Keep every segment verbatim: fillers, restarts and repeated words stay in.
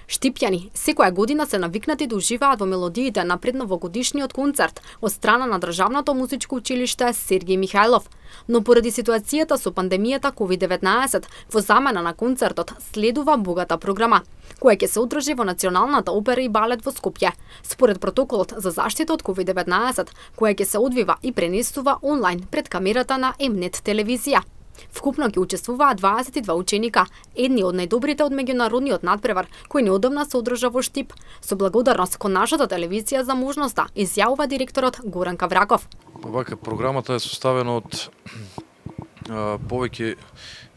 Штипјани секоја година се навикнати да уживаат во мелодиите на предновогодишниот концерт од страна на Државното музичко училиште Сергиј Михајлов. Но поради ситуацијата со пандемијата ковид деветнаесет, во замена на концертот следува богата програма, која ќе се одржи во Националната опера и балет во Скопје, според протоколот за заштита од ковид деветнаесет, која ќе се одвива и пренесува онлайн пред камерата на М-нет телевизија. Вкупно ќе учествуваат дваесет и два ученика, едни од најдобрите од меѓународниот надпревар, кој неодамна се одржа во Штип, со благодарност кон нашата телевизија за можноста, изјавува директорот Горан Кавраков. Вака, програмата е составена од а, повеќе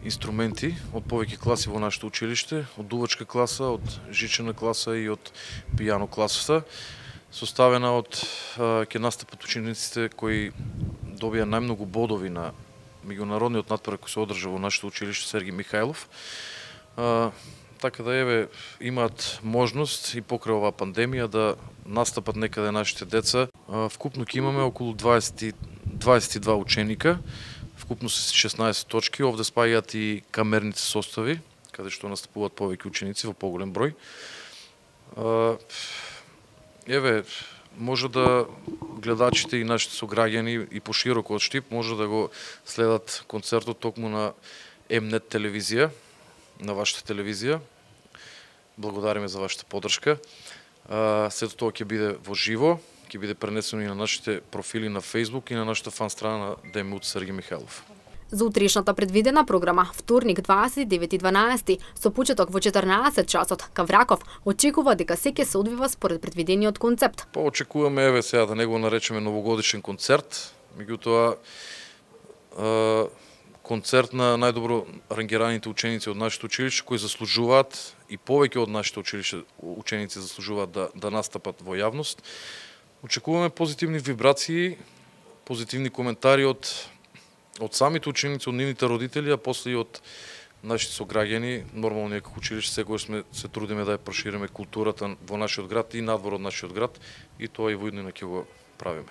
инструменти, од повеќе класи во нашето училиште, од дувачка класа, од жичена класа и од пијано класата. Составена од а, ќе настапат учениците кои добија најмногу бодови на меѓународниот надпревар кој се одржа во нашето училиште Сергиј Михајлов. А, така да еве имаат можност и покрај оваа пандемија да настапат некаде нашите деца. А, вкупно ќе имаме околу дваесет, дваесет и два ученика, вкупно се шеснаесет точки, овде спаѓаат и камерните состави, каде што настапуваат повеќе ученици во поголем број. А, еве може да гледачите и нашите сограѓани и пошироко од Штип може да го следат концертот токму на М-нет телевизија, на вашата телевизија. Благодариме за вашата поддршка. Сето тоа ќе биде во живо, ќе биде пренесено и на нашите профили на Facebook и на нашата фан страна на ДМУ Сергиј Михајлов. За утрешната предвидена програма, вторник дваесет и девети дванаесети, со почеток во четрнаесет часот, Кавраков очекува дека се ќе се одвива според предвидениот концепт. Па очекуваме еве сега да не го наречеме новогодишен концерт, меѓутоа концерт на најдобро рангираните ученици од нашето училиште кои заслужуваат и повеќе од нашите училиште ученици заслужуваат да да настапат во јавност. Очекуваме позитивни вибрации, позитивни коментари од од самите ученици, од нивните родители, а после и од нашите сограѓани. Нормално ние како училиште секогаш сме се трудиме да ја прошириме културата во нашиот град и надвор од нашиот град, и тоа и во иднина ќе го правиме.